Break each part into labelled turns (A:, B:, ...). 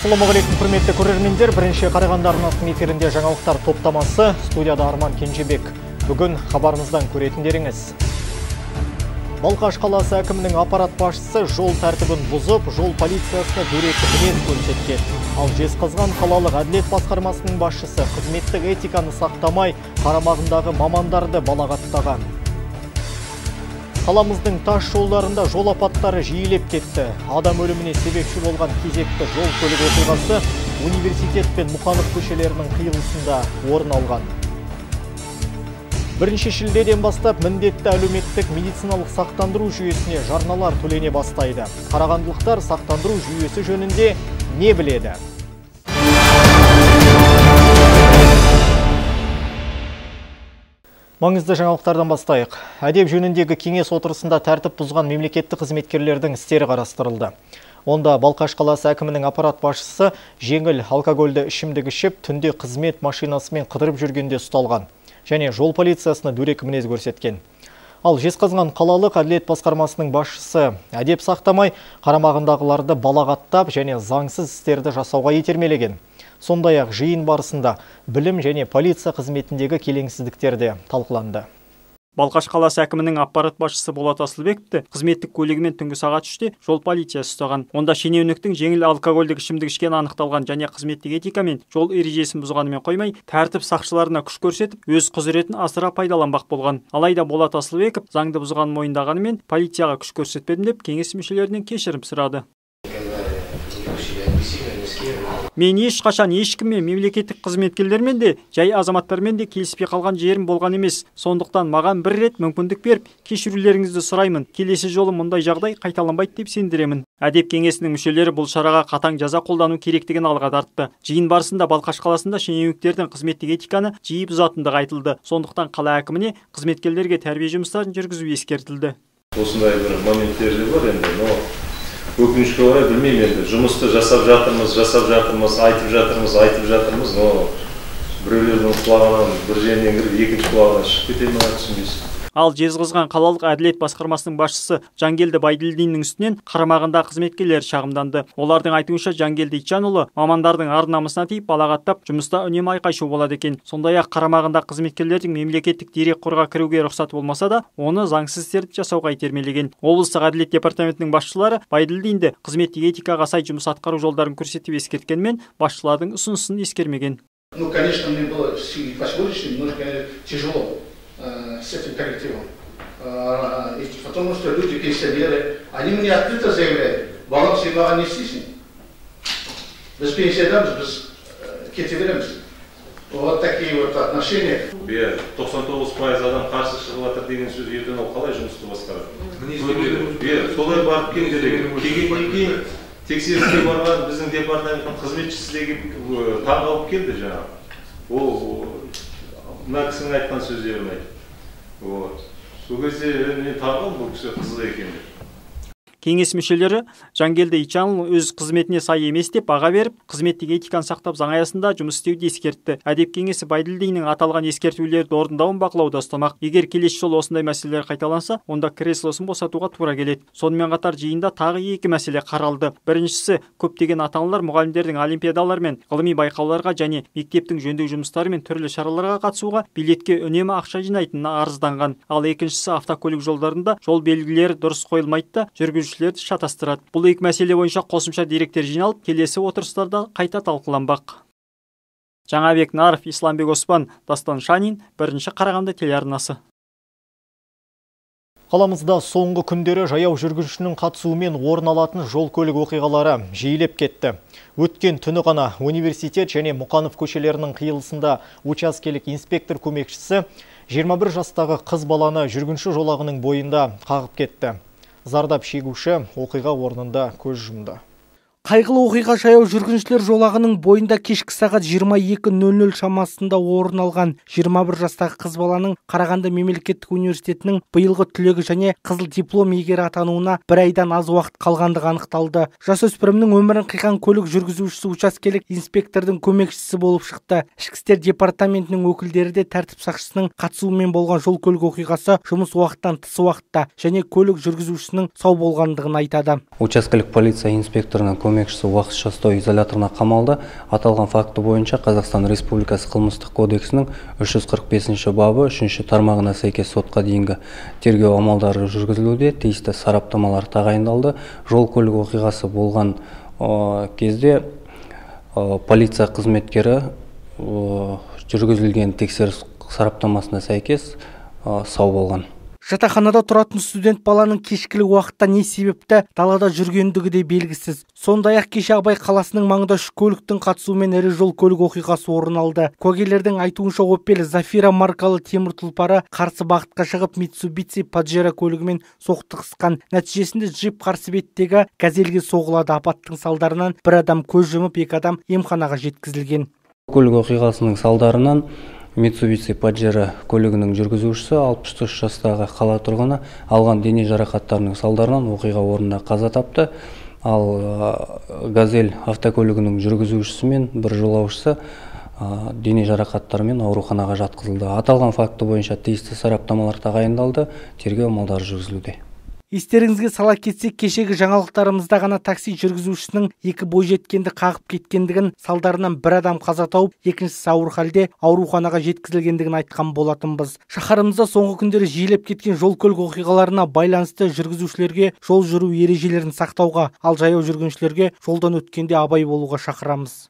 A: Ассалаумағалейкум, құрметті көрермендер. Бірінші Қарағанды арнасының эфирінде жаңалықтар топтамасы. Студияда Арман Кенжебек. Бүгін хабарымыздан көретіндеріңіз. Балқаш қаласы әкімінің аппарат басшысы жол тәртібін бұзып, жол полициясына дөрекі мінез көрсеткен. Ал Жезқазған қалалық әділет басқармасының басшысы қызметтік этиканы сақтамай, қарамағындағы мамандарды балағаттаған. Қаламыздың тас жолдарында жол апаттары жиілеп кетті. Адам өліміне себепші болған кезекті жол көлік оқиғасы университет пен Мұқанов көшелерінің қиылысында орын алған. 1 шілдеден бастап міндетті әлеуметтік медициналық сақтандыру жүйесіне жарналар төлене бастайды. Қарағандылықтар сақтандыру жүйесі жөнінде не біледі? Маңызды жаңалықтардан бастайық. Әдеп жөніндегі кеңес отырысында тәртіп бұзған мемлекеттік қызметкерлердің істері қарастырылды. Онда Балқаш қаласы әкімінің аппарат басшысы жеңіл алкогольді ішімдік ішіп, түнде қызмет машинасымен қыдырып жүргенде ұсталған. Және жол полициясына дөрекі мінез көрсеткен. Ал Жезқазған қалалық әділет басқармасының басшысы әдеп сақтамай, қарамағындағыларды балағаттап және заңсыз істерді жасауға итермелеген. Сондай-ақ жиын барысында білім және полиция қызметіндегі келеңсіздіктерде талқыланды.
B: Балқаш қаласы әкімінің аппарат басшысы Болат Асылбековті қызметтік көлігімен түнгі сағат 3-те жол полициясы ұстаған. Онда шенеуніктің жеңіл алкогольдік ішімдік ішкені анықталған және қызметтік этика мен жол ережесін бұзғанымен қоймай, тәртіп сақшыларына күш көрсетіп, өз құзыретін асыра пайдаланбақ болған. Алайда Болат Асылбеков заңды бұзғанын мойындағанымен полицияға күш көрсетпедім деп кеңес мүшелерінен кешірім сұрады. Мен ешқашан ешкіммен, мемлекеттік қызметкерлермен де, жай азаматтармен де келіспей қалған жерім болған емес. Сондықтан маған бір рет мүмкіндік беріп, кешірулеріңізді сұраймын. Келесі жолы мұндай жағдай қайталанбайды деп сендіремін. Әдеп кеңесінің мүшелері бұл шараға қатаң жаза қолдану керектігін алға тартты. Жиын барысында Балқаш қаласында шенеуніктердің қызметтік этиканы жиі бұзатындығы айтылды. Сондықтан қала әкіміне қызметкерлерге тәрбие жұмыстарын жүргізу ескертілді.
C: Осындай бір моменттер де бар енді, өкінішке орай білмеймін енді, жұмысты жасап жатырмыз, айтып жатырмыз, но біреулердің құлағынан бір жерінен кіріп, екінші құлағынан шығып кете ме, түсінбейсің.
B: Ал Жезқазған қалалық әділет басқармасының басшысы Жангелді Байділдиннің үстінен қарамағында қызметкерлер шағымданды. Олардың айтуынша Жангелді Итжанұлы мамандардың ар-намысына тиіп балағаттап, жұмыста үнемі айқай-шу болады екен. Сондай-ақ қарамағында қызметкерлердің мемлекеттік дерекқорға кіруге рұқсат болмаса да, оны заңсыз істерді жасауға итермелеген. Облыстық әділет департаментінің басшылары Байділдинді қызметтік этикаға сай жұмыс атқару жолдарын көрсетіп ескерткенмен, басшылардың ұсынысын ескермеген.
D: Конечно, мне было сегодняшним немножко тяжело с этим коллективом. Потому что люди, пенсионеры, они мне открыто заявляют, балам симаға не істейсің? Біз пенсиядамыз, біз кете береміз. Вот такие вот отношения.
C: 99% адам қарсы шығып жатыр деген сөз, ертең ол қалай жұмысты басқарады? Солай барып келді деген. Келгеннен кейін тексеріске барған біздің департаменттің қызметшісі деген таңғалып келді жаңағы. Ол мына кісінің айтқан сөздерін айтты. Сол кезде мен таңғалдым, бұл кісі қызық екен деп.
B: Кеңес мүшелері Жангелді Итжанұлы өз қызметіне сай емес деп баға беріп, қызметтік этиканы сақтап заң аясында жұмыс істеуді ескертті. Әдеп кеңесі Байділдиннің аталған ескертулерді орындауын бақылауда ұстамақ. Егер келесі жолы осындай мәселелер қайталанса, онда креслосын босатуға тура келеді. Сонымен қатар жиында тағы екі мәселе қаралды. Біріншісі, көптеген ата-аналар мұғалімдердің олимпиадалар мен ғылыми байқауларға және мектептің жөндеу жұмыстары мен түрлі шараларға қатысуға билетке үнемі ақша жинайтынына арызданған. Ал екіншісі, автокөлік жолдарында жол белгілері дұрыс қойылмайды да, жүргізушілерді шатастырады. Бұл екі мәселе бойынша қосымша деректер жиналып, келесі отырыстарда қайта талқыланбақ. Жаңабек Наров, Исламбек Оспан, Дастан Шанин, 1-ші Қарағанды телеарнасы.
A: Қаламызда соңғы күндері жаяу жүргіншінің қатысуымен орын алатын жол көлік оқиғалары жиілеп кетті. Өткен түні ғана университет және Мұқанов көшелерінің қиылысында учаскелік инспектор көмекшісі 21 жастағы қыз баланы жүргінші жолағының бойында қағып кетті. Зардап шегуші оқиға орнында көз жұмды.
E: Қайғылы оқиға жаяу жүргіншілер жолағының бойында кешкі сағат 22:00 шамасында орын алған. 21 жастағы қыз баланың Қарағанды мемлекеттік университетінің биылғы түлегі және қызыл диплом иегері атануына бір айдан аз уақыт қалғандығы анықталды. Жасөспірімнің өмірін қиған көлік жүргізушісі учаскелік инспектордың көмекшісі болып шықты. Ішкі істер департаментінің өкілдері де тәртіп сақшысының қатысуымен болған жол көлік оқиғасы жұмыс уақыттан тыс уақытта және көлік жүргізушісінің сау болғандығын айтады.
F: Учаскелік полиция инспекторының көмекшісі уақытша ұстау изоляторына қамалды. Аталған факті бойынша Қазақстан Республикасы қылмыстық кодексінің 345 бабы 3 тармағына сәйкес сотқа дейінгі тергеу амалдары жүргізілуде. Тиісті сараптамалар тағайындалды. Жол көлік оқиғасы болған кезде полиция қызметкері жүргізілген тексеріс сараптамасына сәйкес сау болған.
E: Жатақханада тұратын студент баланың кешкілік уақытта не себепті далада жүргендігі де белгісіз. Сондай-ақ кеше Абай қаласының маңында 3 көліктің қатысуымен ірі жол көлік оқиғасы орын алды. Куәгерлердің айтуынша Opel Zafira маркалы темір тұлпары қарсы бағытқа шығып Mitsubishi Pajero көлігімен соқтығысқан. Нәтижесінде джип қарсы беттегі газельге соғылады. Апаттың салдарынан бір адам көз жұмып, 2 адам емханаға жеткізілген.
F: Көлік оқиғасының салдарынан Mitsubishi Pajero көлігінің жүргізушісі 63 жастағы қала тұрғыны алған дене жарақаттарының салдарынан оқиға орнында қаза тапты. Ал Газель автокөлігінің жүргізушісі мен бір жолаушысы дене жарақаттарымен ауруханаға жатқызылды. Аталған факті бойынша тиісті сараптамалар тағайындалды, тергеу амалдары жүргізілуде.
E: Естеріңізге сала кетсек, кешегі жаңалықтарымызда ғана такси жүргізушісінің 2 бойжеткенді қағып кеткендігін, салдарынан бір адам қаза тауып, екіншісі ауыр халде ауруханаға жеткізілгендігін айтқан болатынбыз. Шаһарымызда соңғы күндері жиілеп кеткен жол көлік оқиғаларына байланысты жүргізушілерге жол жүру ережелерін сақтауға, ал жаяу жүргіншілерге жолдан өткенде абай болуға шақырамыз.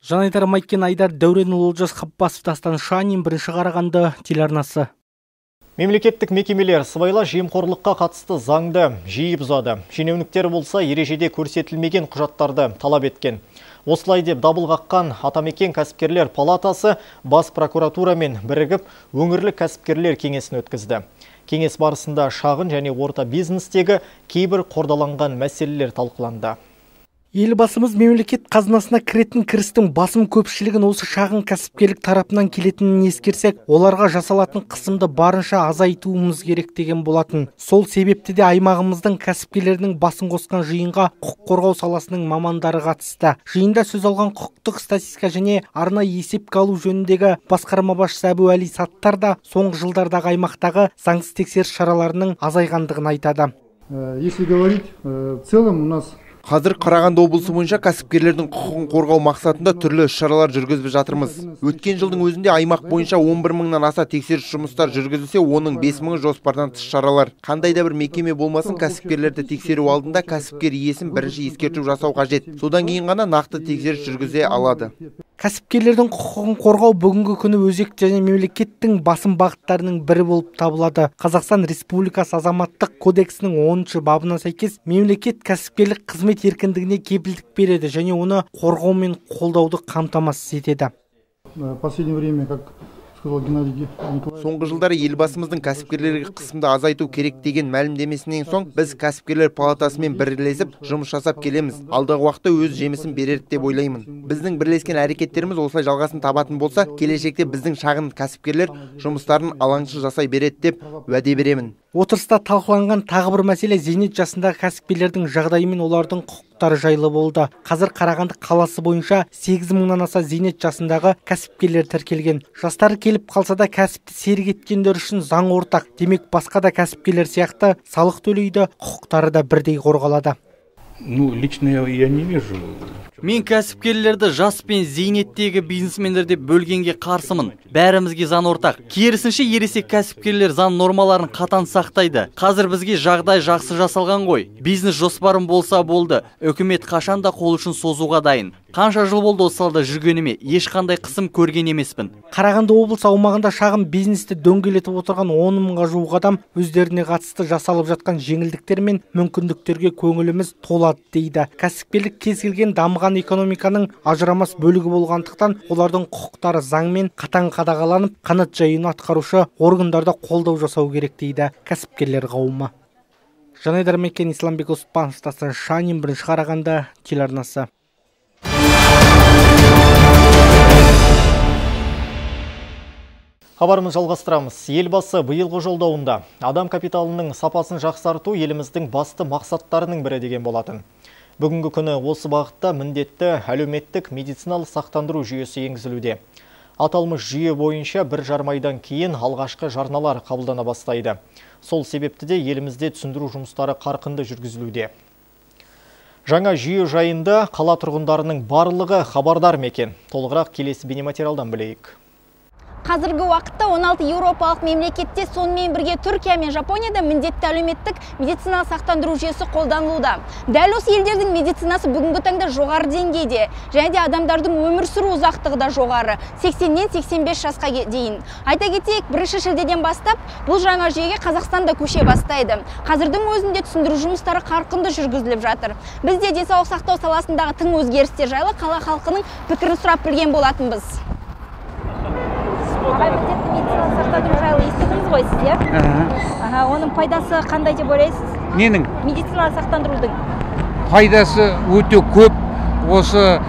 E: Жанайдар Майкен, Айдар Дәуренұлы, Олжас Қапбасов, Дастан Шанин, Бірінші Қарағанды телеарнасы.
A: Мемлекеттік мекемелер сыбайлас жемқорлыққа қатысты заңды жиі бұзады. Шенеуніктер болса ережеде көрсетілмеген құжаттарды талап еткен. Осылай деп дабыл қаққан Атамекен кәсіпкерлер палатасы бас прокуратурамен бірігіп өңірлік кәсіпкерлер кеңесін өткізді. Кеңес барысында шағын және орта бизнестегі кейбір қордаланған мәселелер талқыланды.
E: Елбасымыз мемлекет қазынасына кіретін кірістің басым көпшілігін осы шағын кәсіпкерлік тарапынан келетінін ескерсек, оларға жасалатын қысымды барынша азайтуымыз керек деген болатын. Сол себепті де аймағымыздың кәсіпкерлерінің басын қосқан жиынға құқық қорғау саласының мамандары қатысты. Жиында сөз алған құқықтық статистика және арнайы есепке алу жөніндегі басқарма басшысы Әбуәли Саттар да соңғы жылдардағы аймақтағы заңсыз тексеріс шараларының азайғандығын айтады.
G: Если говорить в целом, у нас
H: Қазір Қарағанды облысы бойынша кәсіпкерлердің құқығын қорғау мақсатында түрлі шаралар жүргізіп жатырмыз. Өткен жылдың өзінде аймақ бойынша 11 мыңнан аса тексеріс жұмыстар жүргізілсе, оның 5 мыңы жоспардан тыс шаралар. Қандай да бір мекеме болмасын, кәсіпкерлерді тексеру алдында кәсіпкер иесін бірінші ескерту жасау қажет. Содан кейін ғана нақты тексеріс жүргізе алады.
E: Кәсіпкерлердің құқығын қорғау бүгінгі күні өзекті және мемлекеттің басым бағыттарының бірі болып табылады. Қазақстан Республикасы азаматтық кодексінің 10-шы бабына сәйкес мемлекет кәсіпкерлік қызмет еркіндігіне кепілдік береді және оны қорғау мен қолдауды қамтамасыз етеді.
G: Последнее время, как сказал Геннадий Николаевич,
H: Соңғы жылдары елбасымыздың кәсіпкерлерге қысымды азайту керек деген мәлімдемесінен соң біз кәсіпкерлер палатасымен бірлесіп жұмыс жасап келеміз. Алдағы уақытта өз жемісін берер деп ойлаймын. Біздің бірлескен әрекеттеріміз осылай жалғасын табатын болса, келешекте біздің шағын кәсіпкерлер жұмыстарын алаңсыз жасай береді деп уәде беремін.
E: Отырыста талқыланған тағы бір мәселе зейнет жасындағы кәсіпкерлердің жағдайы мен олардың құқықтары жайлы болды. Қазір Қарағанды қаласы бойынша 8 мыңнан аса зейнет жасындағы кәсіпкерлер тіркелген. Жастары келіп қалса да кәсіпті серік еткендер үшін заң ортақ. Демек басқа да кәсіпкерлер сияқты салық төлейді, құқықтары да бірдей қорғалады.
I: Лично я не вижу.
J: Мен кәсіпкерлерді жас пен зейнеттегі бизнесмендерде бөлгенге қарсымын. Бәрімізге заң ортақ. Керісінше ересек кәсіпкерлер заң нормаларын қатаң сақтайды. Қазір бізге жағдай жақсы жасалған ғой. Бизнес жоспарым болса болды. Үкімет қашан да қол ұшын созуға дайын. Қанша жыл болды осы салада жүргеніме, ешқандай қысым көрген емеспін.
E: Қарағанды облысы аумағында шағын бизнесті дөңгелетіп отырған 10 мыңға жуық адам өздеріне қатысты жасалып жатқан жеңілдіктер мен мүмкіндіктерге көңіліміз толады дейді. Кәсіпкерлік кез келген дамыған экономиканың ажырамас бөлігі болғандықтан, олардың құқықтары заңмен қатаң қадағаланып, қанат жаюын атқарушы органдарда қолдау жасау керек дейді кәсіпкерлер қауымы. Жанайдар Майкен, Исламбек Оспанов, Дастан Шанин, Бірінші Қарағанды телеарнасы.
A: Хабарымыз жалғастырамыз. Елбасы биылғы жолдауында адам капиталының сапасын жақсарту еліміздің басты мақсаттарының бірі деген болатын. Бүгінгі күні осы бағытта міндетті әлеуметтік медициналық сақтандыру жүйесі енгізілуде. Аталмыш жүйе бойынша 1,5 айдан кейін алғашқы жарналар қабылдана бастайды. Сол себепті де елімізде түсіндіру жұмыстары қарқынды жүргізілуде. Жаңа жүйе жайында қала тұрғындарының барлығы хабардар мекен. Толығырақ келесі бейнематериалдан білейік.
K: Қазіргі уақытта 16 еуропалық мемлекетте, сонымен бірге Түркия мен Жапонияда міндетті әлеуметтік медициналық сақтандыру жүйесі қолданылуда. Дәл осы елдердің медицинасы бүгінгі таңда жоғары деңгейде, және де адамдардың өмір сүру ұзақтығы да жоғары, 80-нен 85 жасқа дейін. Айта кетейік, 1 шілдеден бастап бұл жаңа жүйеге Қазақстанда көше бастайды. Қазірдің өзінде түсіндіру жұмыстары қарқынды жүргізіліп жатыр. Біз де денсаулық сақтау саласындағы тың өзгерістер жайлы қала халқының пікірін сұрап білген болатынбыз. Міндетті медициналық сақтандыру жайлы естідіңіз ғой сіздер? Оның пайдасы қандай деп ойлайсыз?
L: Ненің?
K: Медициналық сақтандырудың.
L: Пайдасы өте көп. Осы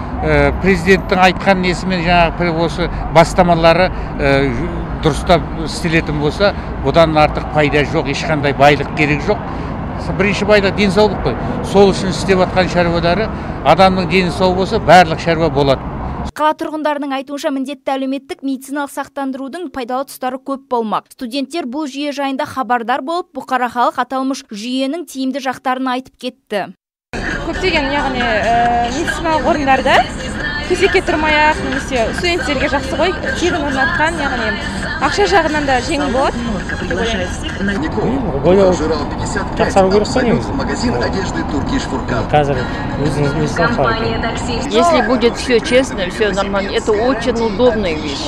L: президенттің айтқан несімен жаңағы осы бастамалары дұрыстап істелетін болса, бұдан артық пайда жоқ, ешқандай байлық керек жоқ. Бірінші байлық денсаулық қой. Сол үшін істеп жатқан шаруалары, адамның дені сау болса, барлық шаруа болады.
K: Қала тұрғындарының айтуынша міндетті әлеуметтік медициналық сақтандырудың пайдалы тұстары көп болмақ. Студенттер бұл жүйе жайында хабардар болып, бұқара халық аталмыш жүйенің тиімді жақтарын айтып кетті.
M: Көптеген яғни медициналық орындарда кезекке тұрмай-ақ немесе студенттерге жақсы ғой, тегін орнатқан, яғни ақша жағынан да жеңіл болады.
N: Если будет все честно, все нормально, это очень удобная вещь.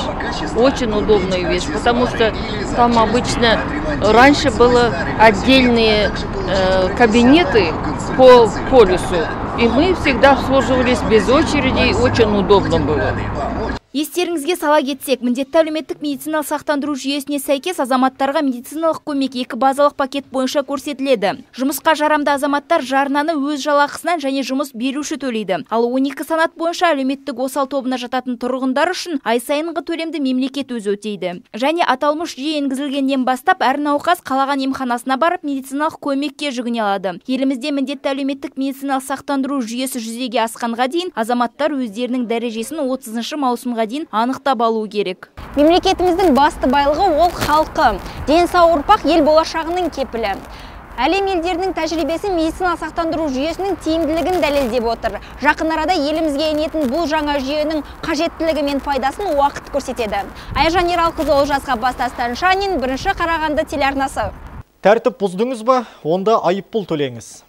N: Очень удобная вещь, потому что там обычно раньше было отдельные кабинеты по полюсу, и мы всегда обслуживались без очереди, очень удобно было.
K: Естеріңізге сала кетсек, міндетті әлеуметтік медициналық сақтандыру жүйесіне сәйкес азаматтарға медициналық көмек 2 базалық пакет бойынша көрсетіледі. Жұмысқа жарамды азаматтар жарнаны өз жалақысынан және жұмыс беруші төлейді. Ал 12 санат бойынша әлеуметтік осал тобына жататын тұрғындар үшін ай сайынғы төлемді мемлекет өзі өтейді. Және аталмыш жүйе енгізілгеннен бастап әр науқас қалаған емханасына барып медициналық көмекке жүгіне алады. Елімізде міндетті әлеуметтік медициналық сақтандыру жүйесі жүзеге асқанға дейін азаматтар өздерінің дәрежесін 30 маусымға дейін анықтап алу керек. Мемлекетіміздің басты байлығы ол халқы. Денсау ұрпақ ел болашағының кепілі. Әлем елдерінің тәжірибесі медициналық сақтандыру жүйесінің тиімділігін дәлелдеп отыр. Жақын арада елімізге енетін бұл жаңа жүйенің қажеттілігі мен пайдасын уақыт көрсетеді. Айжан Ералқызы, Олжас Ғаббас Шанин, 1 Қарағанды телеарнасы.
A: Тәртіп бұздыңыз ба? Онда айыппұл төлеңіз.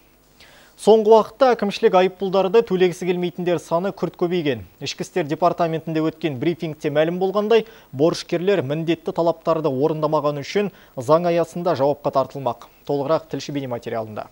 A: Соңғы уақытта әкімшілік айыппұлдарды төлегісі келмейтіндер саны күрт көбейген. Ішкі істер департаментінде өткен брифингте мәлім болғандай, борышкерлер міндетті талаптарды орындамаған үшін заң аясында жауапқа тартылмақ. Толығырақ тілші бейнематериалында.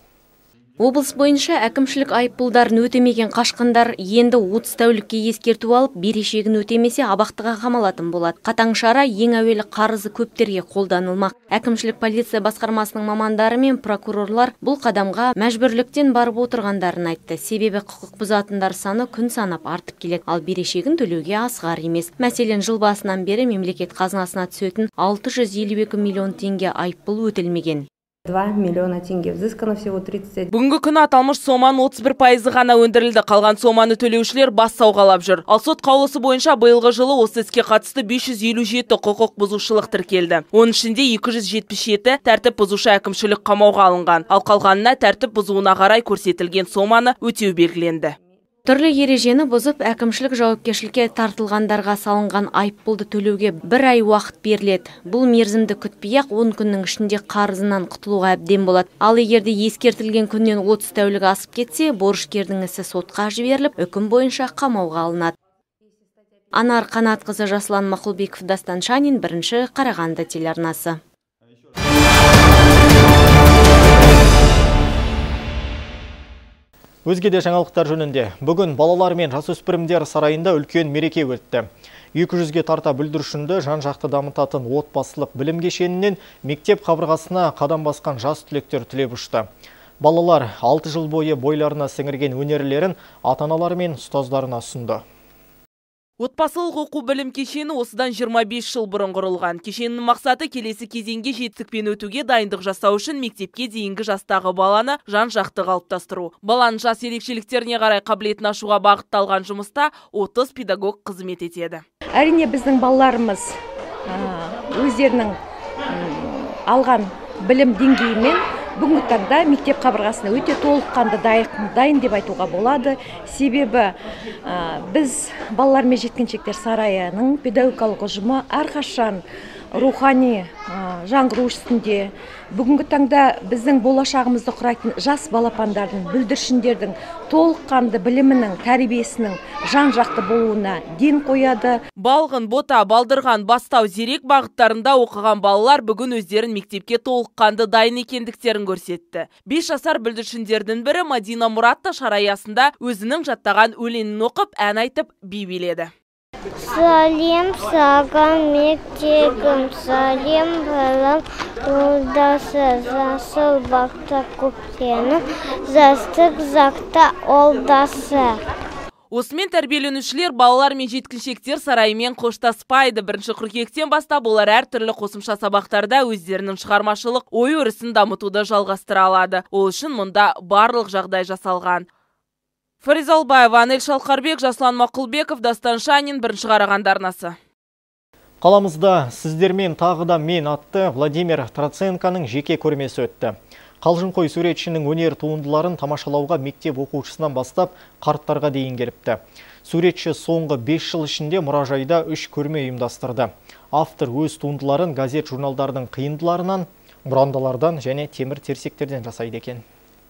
O: Облыс бойынша әкімшілік айыппұлдарын өтемеген қашқындар енді 30 тәулікке ескерту алып, берешегін өтемесе абақтыға қамалатын болады. Қатаң шара ең әуелі қарызы көптерге қолданылмақ. Әкімшілік полиция басқармасының мамандары мен прокурорлар бұл қадамға мәжбүрліктен барып отырғандарын айтты. Себебі құқық бұзатындар саны күн санап артып келеді, ал берешегін төлеуге асығар емес. Мәселен, жыл басынан бері мемлекет қазынасына түсетін 652 миллион теңге айыппұл өтілмеген.
P: 2 миллиона теңге взыскано всего 30.
Q: Бүгінгі күні аталмыш соманың 31% ғана өндірілді. Қалған соманы төлеушілер бас сауғалап жүр. Ал сот қаулысы бойынша биылғы жылы осы іске қатысты 557 құқық бұзушылық тіркелді. Оның ішінде 277 тәртіп бұзушы әкімшілік қамауға алынған. Ал қалғанына тәртіп бұзуына қарай көрсетілген соманы өтеу белгіленді.
O: Түрлі ережені бұзып, әкімшілік жауапкершілікке тартылғандарға салынған айыппұлды төлеуге 1 ай уақыт беріледі. Бұл мерзімді күтпей-ақ 10 күннің ішінде қарызынан құтылуға әбден болады. Ал егерде ескертілген күннен 30 тәулік асып кетсе, борышкердің ісі сотқа жіберіліп, үкім бойынша қамауға алынады. Анар Қанатқызы, Жасұлан Мақұлбеков, Дастан Шанин, 1 Қарағанды телеарнасы.
A: Өзге де жаңалықтар жөнінде. Бүгін балалар мен жасөспірімдер сарайында үлкен мереке өтті. 200-ге тарта бүлдіршінді жан-жақты дамытатын отбасылық білім кешенінен мектеп қабырғасына қадам басқан жас түлектер түлеп ұшты. Балалар 6 жыл бойы бойларына сіңірген өнерлерін ата-аналары мен ұстаздарына ұсынды.
Q: Отбасылық оқу білім кешені осыдан 25 жыл бұрын құрылған. Кешеннің мақсаты келесі кезеңге жетістікпен өтуге дайындық жасау үшін мектепке дейінгі жастағы баланы жан-жақты қалыптастыру. Баланың жас ерекшеліктеріне қарай қабілетін ашуға бағытталған жұмыста 30 педагог қызмет етеді.
R: Әрине біздің балаларымыз өздерінің алған білім деңгейімен бүгінгі таңда мектеп қабырғасына өте толыққанды дайын деп айтуға болады. Себебі біз балалар мен жеткіншектер сарайының педагогикалық ұжымы әрқашан рухани жаңғыру үстінде. Бүгінгі таңда біздің болашағымызды құрайтын жас балапандардың, бүлдіршіндердің толыққанды білімінің, тәрбиесінің жан-жақты болуына ден қояды.
Q: Балғын, Бота, Балдырған, Бастау, Зерек бағыттарында оқыған балалар бүгін өздерін мектепке толыққанды дайын екендіктерін көрсетті. 5 жасар бүлдіршіндердің бірі Мадина Мұратта шара аясында өзінің жаттаған өлеңін оқып, ән айтып, би биледі.
S: Салем саған мектегім, салем балам олдасы, жасыл бақта көктенім, застық зақта олдасы.
Q: Осымен тәрбиеленушілер балалар мен жеткіншектер сарайымен қоштаспайды. 1 қыркүйектен бастап олар әртүрлі қосымша сабақтарда өздерінің шығармашылық ой өрісін дамытуды жалғастыра алады. Ол үшін мұнда барлық жағдай жасалған. Фариза Албаева, Анель Шалқарбек, Жаслан Мақұлбеков, Дастан Шанин, 1 Қарағанды арнасы.
A: Қаламызда сіздермен тағыда мен атты Владимир Троценконың жеке көрмесі өтті. Қалжыңқой суретшінің өнер туындыларын тамашалауға мектеп оқушысынан бастап қарттарға дейін келіпті. Суретші соңғы 5 жыл ішінде мұражайда 3 көрме ұйымдастырды. Автор өз туындыларын газет журналдардың қиындыларынан, бұрандалардан және темір терсектерден жасайды екен.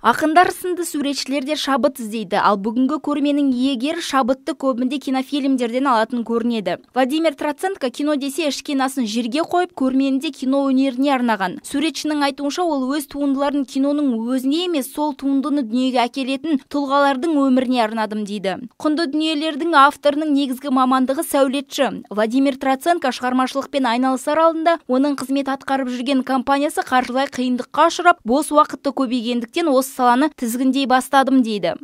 K: Ақындар сынды суретшілерде шабыт іздейді, ал бүгінгі көрменің иегері шабытты көбінде кинофильмдерден алатын көрінеді. Владимир Троценко кино десе ішкенасын жерге қойып, көрменінде кино өнеріне арнаған. Суретшінің айтуынша, ол өз туындыларын киноның өзіне емес, сол туындыны дүниеге әкелетін тұлғалардың өміріне арнадым дейді. Құнды дүниелердің авторының негізгі мамандығы сәулетші. Владимир Троценко шығармашылықпен айналысар алдында оның қызмет атқарып жүрген компаниясы қаржылай қиындыққа ұшырап, бос уақытты көбейгендіктен осы саланы тізгіндей бастадым дейді.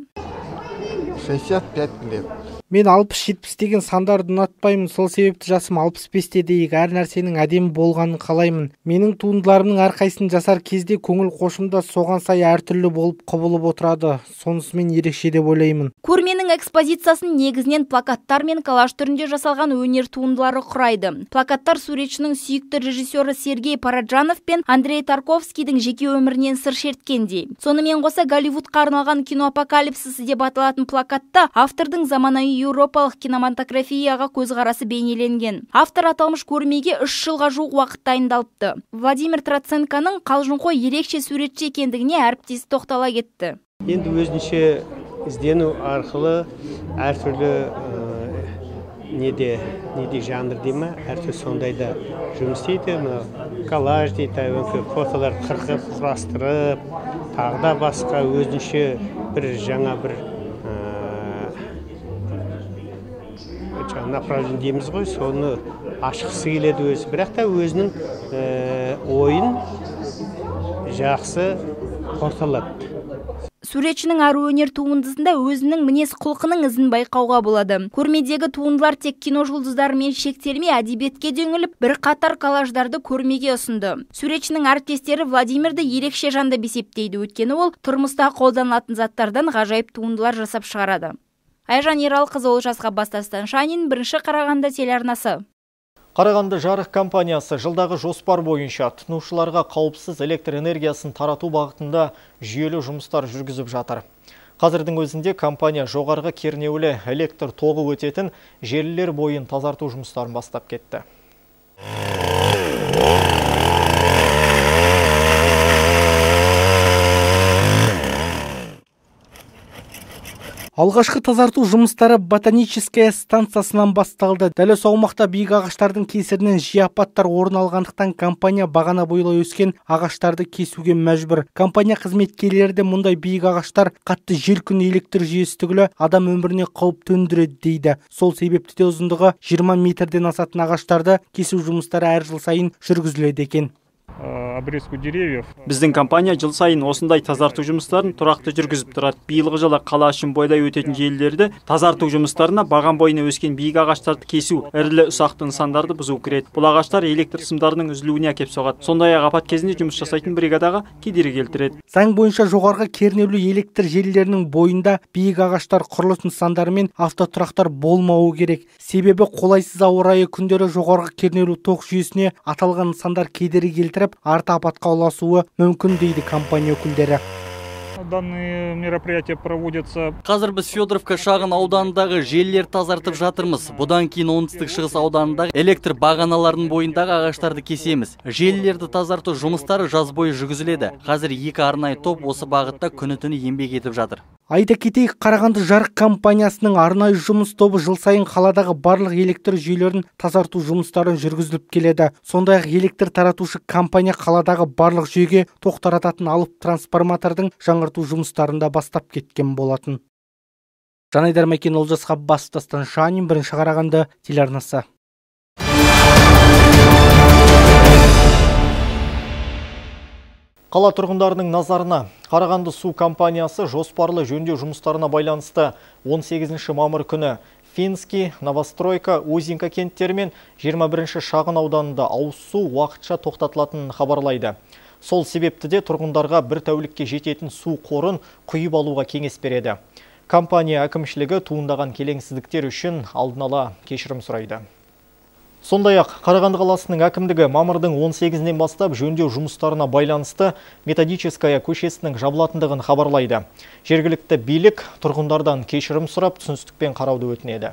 T: 65 лет.
E: Мен 60-70 деген сандарды ұнатпаймын, сол себепті жасым 65-те дейік, әр нәрсенің әдемі болғанын қалаймын. Менің туындыларымның әрқайсысын жасар кезде көңіл қошымда соған сай әртүрлі болып құбылып отырады. Сонысымен ерекше деп ойлаймын.
K: Көрменің экспозициясын негізінен плакаттар мен коллаж түрінде жасалған өнер туындылары құрайды. Плакаттар суретшінің сүйікті режиссері Сергей Параджанов пен Андрей Тарковскийдің жеке өмірінен сыр шерткендей. Сонымен қоса Голливудқа арналған кино апокалипсисі деп аталатын плакатта автордың заманауи еуропалық кинематографияға көзқарасы бейнеленген. Автор аталмыш көрмеге 3 жылға жуық уақыт дайындалыпты. Владимир Троценконың қалжыңқой ерекше суретші екендігіне әріптесі тоқтала кетті.
U: Енді өзінше іздену арқылы әртүрлі неде жанр дейме, әртүрлі сондайда жұмыс істейді. Коллаж дейді, фотолар қырқып, құрастырып, тағда басқа өзінше бір жаңа бір направление дейміз ғой, соны ашқысы келеді өзі. Бірақ та өзінің ойын жақсы орталады.
K: Суретшінің әр өнер туындысында өзінің мінез құлқының ізін байқауға болады. Көрмедегі туындылар тек кино жұлдыздарымен шектелмей, әдебиетке дөңіліп, бір қатар коллаждарды көрмеге ұсынды. Суретшінің әріптестері Владимирді ерекше жанды бесептейді, өйткені ол тұрмыста қолданылатын заттардан ғажайып туындылар жасап шығарады. Айжан Ералқызы, Олжас Ғаббас, Дастан Шанин, 1 Қарағанды телеарнасы.
A: Қарағанды жарық компаниясы жылдағы жоспар бойынша тұтынушыларға қауіпсіз электр энергиясын тарату бағытында жүйелі жұмыстар жүргізіп жатыр. Қазірдің өзінде компания жоғарғы кернеулі электр тоғы өтетін желілер бойын тазарту жұмыстарын бастап кетті.
E: Алғашқы тазарту жұмыстары ботаническая станциясынан басталды. Дәл осы аумақта биік ағаштардың кесірінен жиі апаттар орын алғандықтан компания бағана бойлай өскен ағаштарды кесуге мәжбүр. Компания қызметкерлері де мұндай биік ағаштар қатты жел күн электр жүйесі түгілі адам өміріне қауіп төндіреді дейді. Сол себепті де ұзындығы 20 метрден асатын ағаштарды кесу жұмыстары әр жыл сайын жүргізіледі екен.
B: Обрезку деревьев. Біздің компания жыл сайын осындай тазарту жұмыстарын тұрақты жүргізіп тұрады. Биылғы жылы қала үшін бойлай өтетін желілерді тазарту жұмыстарына баған бойына өскен биік ағаштарды кесу, ірілі ұсақты нысандарды бұзу кіреді. Бұл ағаштар электр сымдарының үзілуіне әкеп соғады. Сондай-ақ апат кезінде жұмыс жасайтын бригадаға кедергі келтіреді.
E: Заң бойынша жоғарғы кернеулі электр желілерінің бойында биік ағаштар, құрылыс нысандары мен автотұрақтар болмауы керек. Себебі қолайсыз ауа райы күндері жоғарғы кернеулі тоқ жүйесіне аталған нысандар кедергі келтіріп, келтіріп, арты апатқа ұласуы мүмкін дейді компания өкілдері.
I: Данные мероприятия проводятся.
J: Қазір біз Федоровка шағын ауданындағы желілер тазартып жатырмыз. Бұдан кейін оңтүстік шығыс ауданындағы электр бағаналарының бойындағы ағаштарды кесеміз. Желілерді тазарту жұмыстары жаз бойы жүргізіледі. Қазір 2 арнайы топ осы бағытта күні-түні еңбек етіп жатыр.
E: Айта кетейік, Қарағанды жарық компаниясының арнайы жұмыс тобы жыл сайын қаладағы барлық электр жүйелерін тазарту жұмыстарын жүргізіліп келеді. Сондай-ақ электр таратушы компания қаладағы барлық жүйеге тоқ тарататын алып трансформатордың жаңғырту жұмыстарында бастап кеткен болатын. Жанайдар Мәкен, Олжас Ғаббасов, Дастан Шанин, Бірінші Қарағанды телеарнасы.
A: Қала тұрғындарының назарына Қарағанды су компаниясы жоспарлы жөндеу жұмыстарына байланысты 18 мамыр күні Финский, Новостройка, Узинка кенттері мен 21 шағын ауданында ауыз су уақытша тоқтатылатынын хабарлайды. Сол себепті де тұрғындарға бір тәулікке жететін су қорын құйып алуға кеңес береді. Компания әкімшілігі туындаған келеңсіздіктер үшін алдын ала кешірім сұрайды. Сондай-ақ, Қарағанды қаласының әкімдігі мамырдың 18-нен бастап жөндеу жұмыстарына байланысты Методическая көшесінің жабылатындығын хабарлайды. Жергілікті билік тұрғындардан кешірім сұрап, түсіністікпен қарауды өтінеді.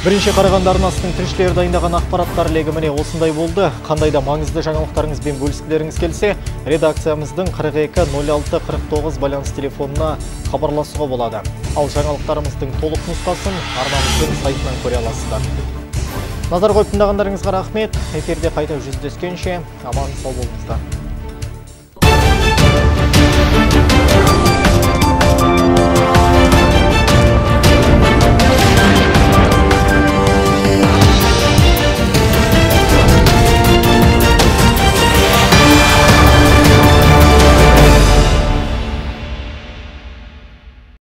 A: Бірінші Қарағанды арнасының тілшілері дайындаған ақпараттар легіміне осындай болды. Қандай да маңызды жаңалықтарыңызбен бөліскілеріңіз келсе, редакциямыздың 42-06-49 байланыс телефонына хабарласуға болады. Ал жаңалықтарымыздың толық нұсқасын арнамыздың сайтынан көре аласыздар. Назар қойып тыңдағандарыңызға рахмет. Эфирде қайта жүздескенше аман сау болыңыздар.